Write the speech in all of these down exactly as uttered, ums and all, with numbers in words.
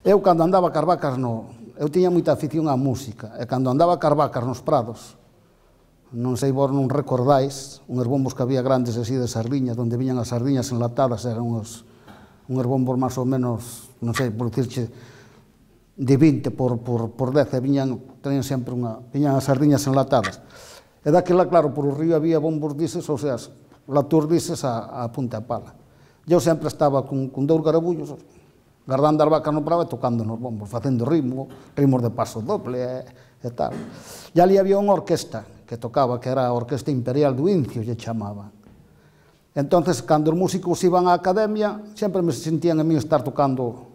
Eu, cando andaba cas vacas, no, eu tiña moita afición á música, e cando andaba cas vacas nos prados, non sei vos non recordáis, unhos bombos que había grandes así de sardiñas, onde viñan as sardiñas enlatadas, eran uns, unhos bombos máis ou menos, non sei, por dicirche, de vinte por, por, por dez, e viñan, tenían sempre unha, viñan as sardiñas enlatadas. E daquela, claro, por o río había bombos dices, ou sea, latúr dices a, a punta de pala. Eu sempre estaba con, con dous garabullos, guardando as vacas no prado e tocando nos bombos, facendo ritmo, ritmos de paso doble e, e tal. E ali había unha orquesta que tocaba, que era a Orquesta Imperial do Incio, lle chamaban. Entonces, cando os músicos iban á academia, sempre me sentían a mí estar tocando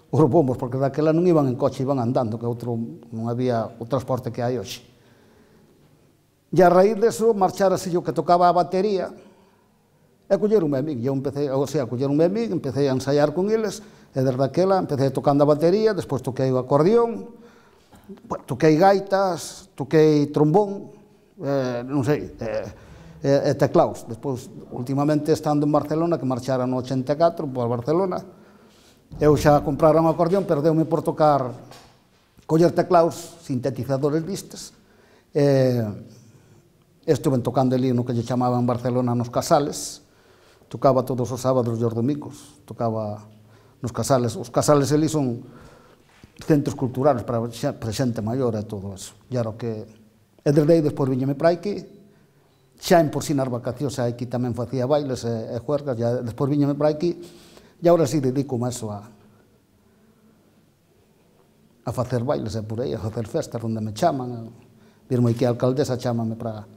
os bombos, porque daquela non iban en coche, iban andando, que outro non había o transporte que hai hoxe. E a raíz deso, marchárase yo que tocaba a batería, e colleronme a mí, eu empecé, ou sea, colleronme a mí, empecé a ensaiar con eles, e desde aquela empecé tocando a batería, despois toquei o acordeón, toquei gaitas, toquei trombón, eh, non sei, e, e teclaos. Despois, últimamente, estando en Barcelona, que marchara no ochenta e catro, por Barcelona, eu xa comprara un acordeón, pero deu-me por tocar, coller teclaos, sintetizadores distes, e estuve tocando ali no que lle chamaban Barcelona nos Casales, tocaba todos os sábados e os domingos, tocaba nos Casales. Os Casales ali son centros culturales para xente maior e todo eso. E era o que... E desde aí, despois viñeme para aquí, xa en por si nas vacacións, aquí tamén facía bailes e, e juergas, e despois viñeme para aquí, e agora sí dedico máis a a facer bailes e por aí, a facer festas onde me chaman, a virme aquí a alcaldesa, chámame para